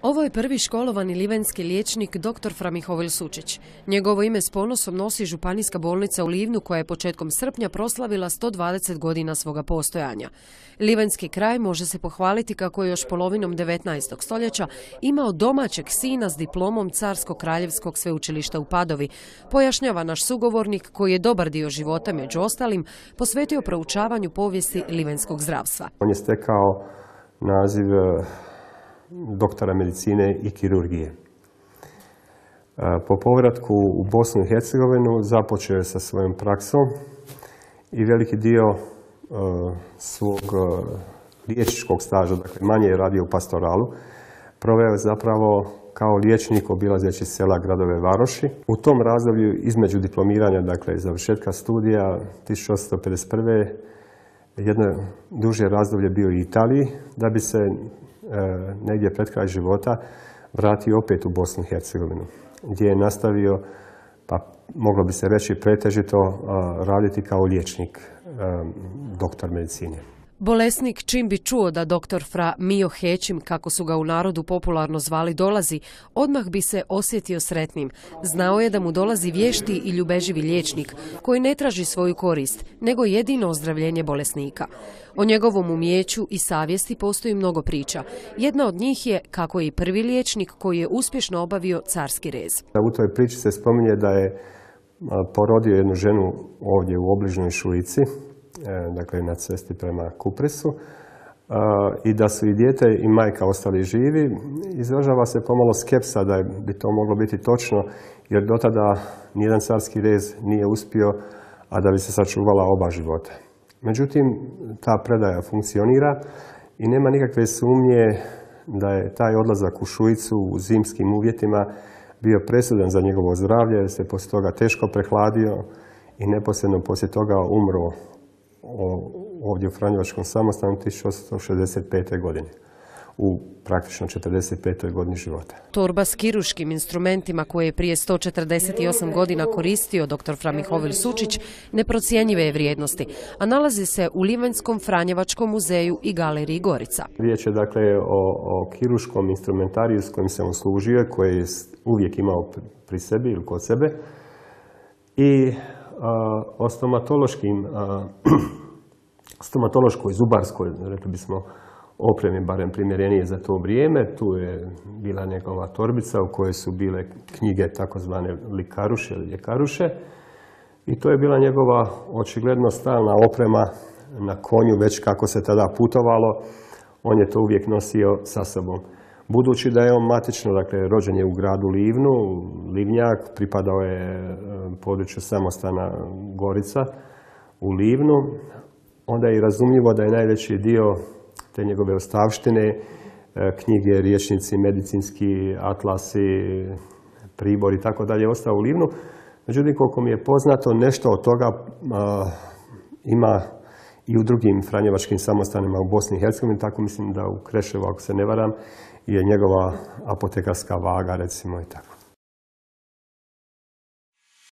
Ovo je prvi školovani livenski liječnik dr. Fra Mihovil Sučić. Njegovo ime s ponosom nosi Županijska bolnica u Livnu koja je početkom srpnja proslavila 120 godina svoga postojanja. Livenski kraj može se pohvaliti kako je još polovinom 19. stoljeća imao domaćeg sina s diplomom Carsko-kraljevskog sveučilišta u Padovi, pojašnjava naš sugovornik koji je dobar dio života, među ostalim, posvetio proučavanju povijesti livenskog zdravstva. On je stekao naziv doktora medicine i kirurgije. Po povratku u Bosnu i Hercegovinu započeo je sa svojom praksom i veliki dio svog liječničkog staža, dakle manje je radio u pastoralu, proveo je zapravo kao liječnik obilazeći sela, gradove, varoši. U tom razdoblju između diplomiranja, dakle i završetka studija 1851. jedno duže razdoblje bio u Italiji, da bi se negdje pred kraj života vratio opet u Bosnu i Hercegovinu, gdje je nastavio, pa moglo bi se reći pretežito, raditi kao liječnik, doktor medicine. Bolesnik čim bi čuo da dr. Fra Mio Hećim, kako su ga u narodu popularno zvali, dolazi, odmah bi se osjetio sretnim. Znao je da mu dolazi vješti i ljubeživi liječnik koji ne traži svoju korist, nego jedino ozdravljenje bolesnika. O njegovom umijeću i savjesti postoji mnogo priča. Jedna od njih je kako je i prvi liječnik koji je uspješno obavio carski rez. U toj priči se spominje da je porodio jednu ženu ovdje u obližnjoj Šuici, dakle na cesti prema Kupresu, i da su i dijete i majka ostali živi. Izražava se pomalo skepsa da bi to moglo biti točno, jer do tada nijedan carski rez nije uspio, a da bi se sačuvala oba života. Međutim, ta predaja funkcionira i nema nikakve sumnje da je taj odlazak u Šuicu u zimskim uvjetima bio presudan za njegovo zdravlje, jer se poslije toga teško prehladio i neposredno poslije toga umro ovdje u Franjevačkom samostanu 1865. godine, u praktično 45. godini života. Torba s kirurškim instrumentima koje je prije 148 godina koristio dr. Fra Mihovil Sučić neprocjenjive je vrijednosti, a nalazi se u Livenskom Franjevačkom muzeju i galeriji Gorica. Riječ je dakle o kirurškom instrumentariju s kojim se on služio, koji je uvijek imao pri sebi ili kod sebe, i o stomatološkoj, zubarskoj, rekli bismo, opremi, barem primjerenije za to vrijeme. Tu je bila njegova torbica u kojoj su bile knjige takozvane likaruše ili ljekaruše, i to je bila njegova očigledno stalna oprema na konju, već kako se tada putovalo, on je to uvijek nosio sa sobom. Budući da je on matično, dakle rođen je u gradu Livnu, Livnjak, pripadao je području samostana Gorica u Livnu, onda je i razumljivo da je najveći dio te njegove ostavštine, knjige, rječnici, medicinski atlasi, pribor i tako dalje, ostao u Livnu. Međutim, koliko mi je poznato, nešto od toga ima i u drugim franjevačkim samostanima u Bosni i Hercegovini, tako mislim da u Kreševu, ako se ne varam, je njegova apotekarska vaga, recimo, i tako.